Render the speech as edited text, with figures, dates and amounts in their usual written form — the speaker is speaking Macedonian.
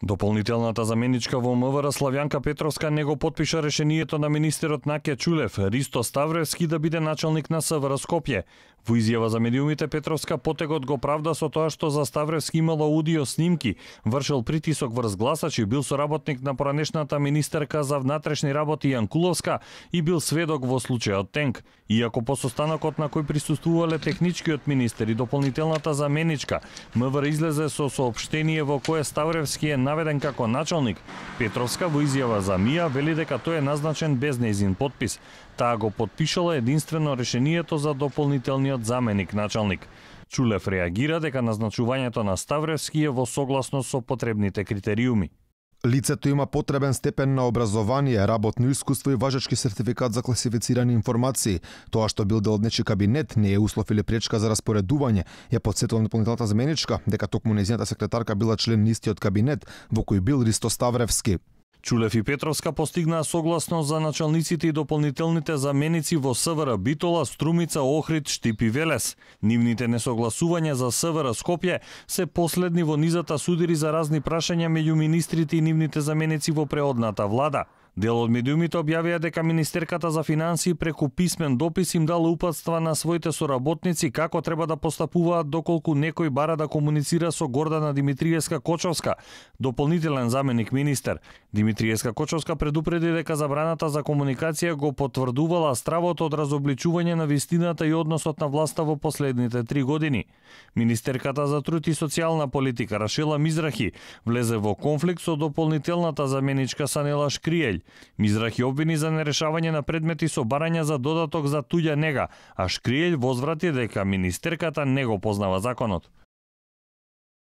Дополнителната заменичка во МВР Славјанка Петровска не го потпиша решението на министерот Наке Чулев, Ристо Ставревски да биде началник на МВР Скопје. Во изјава за медиумите Петровска потегот го правда со тоа што за Ставревски имало аудио снимки, вршел притисок врз гласачи, бил соработник на поранешната министерка за внатрешни работи Јанкуловска и бил сведок во случајот Тенк. Иако по состанокот на кој присуствувале техничкиот министер и дополнителната заменичка, МВР излезе со соопштение во кое Ставревски е наведен како началник, Петровска во изјава за МИА вели дека тој е назначен без нејзин потпис. Таа го потпишала единствено решението за дополнителниот заменик началник. Чулев реагира дека назначувањето на Ставревски е во согласност со потребните критериуми. Лицето има потребен степен на образование, работно искуство и важечки сертификат за класифицирани информации. Тоа што бил дел од нечи кабинет не е услов или пречка за распоредување. Ја потсетила дополнителната заменичка дека токму нејзината секретарка била член на истиот кабинет во кој бил Ристо Ставревски. Чулев и Петровска постигнаа согласност за началниците и дополнителните заменици во СВР Битола, Струмица, Охрид, Штип и Велес. Нивните несогласувања за СВР Скопје се последни во низата судири за разни прашања меѓу министрите и нивните заменици во преодната влада. Дел од медиумите објавија дека Министерката за финансии преку писмен допис им дала упатства на своите соработници како треба да постапуваат доколку некој бара да комуницира со Гордана Димитриевска-Кочовска, дополнителен заменик министер. Димитриевска-Кочовска предупреди дека забраната за комуникација го потврдувала стравото од разобличување на вистината и односот на власта во последните 3 години. Министерката за труд и социјална политика Рашела Мизрахи влезе во конфликт со дополнителната заменичка Санела Шкриелј. Мизрахи обвини за нерешавање на предмети со барања за додаток за туѓа нега, а Шкриелј возврати дека министерката не го познава законот.